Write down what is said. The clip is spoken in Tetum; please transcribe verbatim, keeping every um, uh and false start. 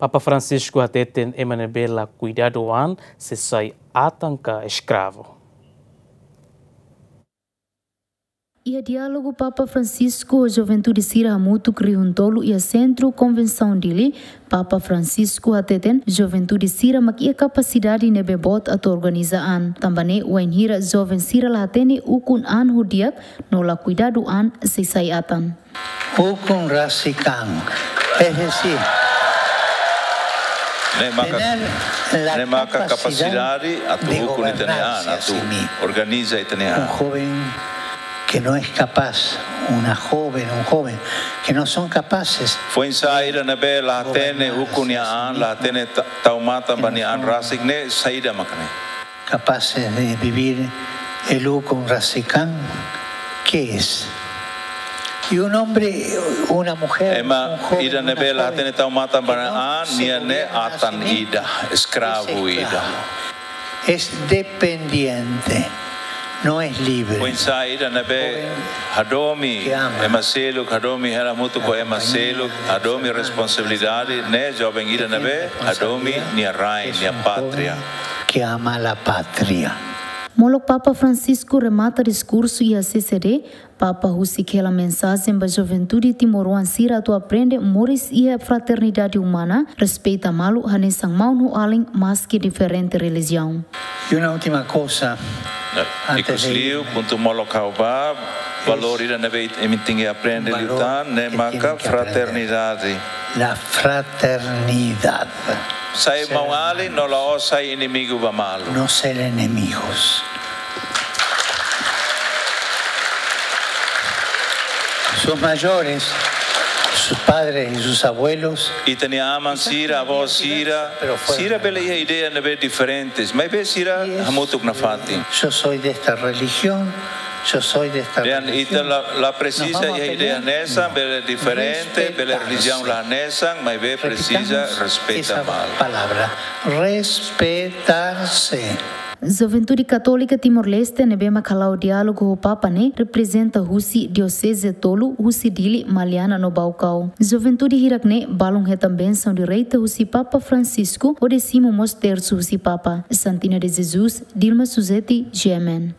Papa Francisco hateten ema ne'ebé la kuidadu an sei sai atan ka eskravu. Iha diálogu Papa Francisco ho juventude sira hamutuk rihun tolu iha Sentru Konvensaun Dili, Papa Francisco hateten juventude sira mak iha kapasidade ne'ebé boot atu organiza an. Tanba ne'e wainhira joven sira la hatene ukun an ho di'ak no la kuidadu an sei sai atan. Ukun rasik an. Es decir, ne'e maka, tener la ne'e maka capacidad kapasidade atu de ukun ita-nia an, gobernarse a atu sí mismo, organiza ita-nia an. Un joven que no es capaz, una joven, un joven que no son capaces. Foin-sa'e ida ne'ebé la hatene ukun nia an, la hatene ta-, tau matan ba nia an rasik ne'e, saida maka ne'e? Capaces de vivir el ukun rasik an, ¿qué es? Y un hombre, una mujer, ema, un joven, ida ne'ebé la hatene tau matan ba nia an, nia ne'e atan ida, eskravu ida. Es dependiente, no es libre. Foin-sa'e ida ne'ebé hadomi ema seluk, hadomi hela hamutuk ho ema seluk, hadomi responsabilidade, ne'e joven ida ne'ebé hadomi nia rain, nia pátria. Que ama la patria. Molok Papa Francisco remata diskursu iha C C D, Papa husik hela mensajen ba juventude timoroan sira atu aprende moris iha fraternidade umana, respeita malu hanesan maun ho alin maski diferente relijiaun. Y una última cosa, antes de irme, ikusliu, puntu molok ha'u bá, valór ida ne'ebé imi tenke aprende liután, ne'e maka fraternidade. La fraternidad. Sai maun-alin no la'ós sai inimigu ba malu. No ser enemigos. Sus mayores, sus padres y sus abuelos, ita-nia aman sira, avó sira, sira bele iha ideia ne'ebé diferentes, maibé sira hamutuk nafatin. Yo soy de esta religión, yo soy de esta religión. Dehan ita la, la presiza iha ideia hanesan, bele diferente, bele relijiaun la hanesan, maibé presiza respeita malu. Palabra, respetarse. Juventude Katólika Timor-Leste ne'ebé mak hala'o diálogu ho Papa ne'e reprezenta husi dioseze tolu, husi Dili, Maliana no Baucau. Juventude hirak ne'e balun hetan bensaun direta husi Papa Francisco hodi simu mós tersu husi Papa. Santina de Jesus, Dilma Suzeti, G M N.